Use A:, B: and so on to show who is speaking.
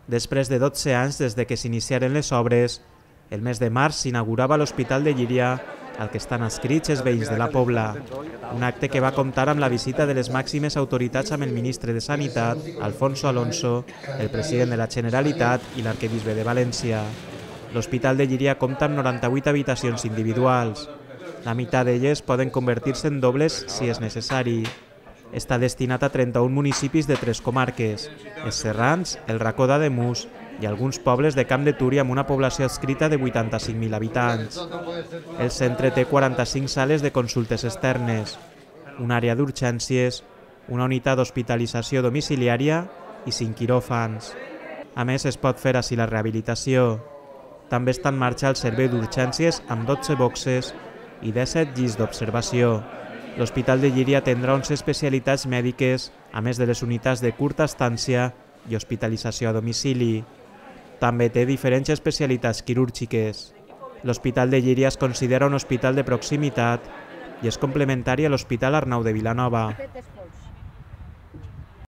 A: Després de 12 anys des de que s'iniciaren les obres, el mes de març s'inaugurava l'Hospital de Llíria, al que estan adscrits els veïns de la Pobla. Un acte que va comptar amb la visita de les màximes autoritats amb el ministre de Sanitat, Alfonso Alonso, el president de la Generalitat i l'arquebisbe de València. L'Hospital de Llíria compta amb 98 habitacions individuals. La meitat d'elles poden convertir-se en dobles si és necessari. Està destinat a 31 municipis de 3 comarques, els Serrans, el Racó d'Ademús i alguns pobles de Camp de Túria amb una població adscrita de 85.000 habitants. El centre té 45 sales de consultes externes, una àrea d'urgències, una unitat d'hospitalització domiciliària i 5 quiròfans. A més, es pot fer ací la rehabilitació. També està en marxa el servei d'urgències amb 12 boxes i 17 llits d'observació. L'Hospital de Llíria tindrà 11 especialitats mèdiques, a més de les unitats de curta estància i hospitalització a domicili. També té diferents especialitats quirúrgiques. L'Hospital de Llíria es considera un hospital de proximitat i és complementari a l'Hospital Arnau de Vilanova.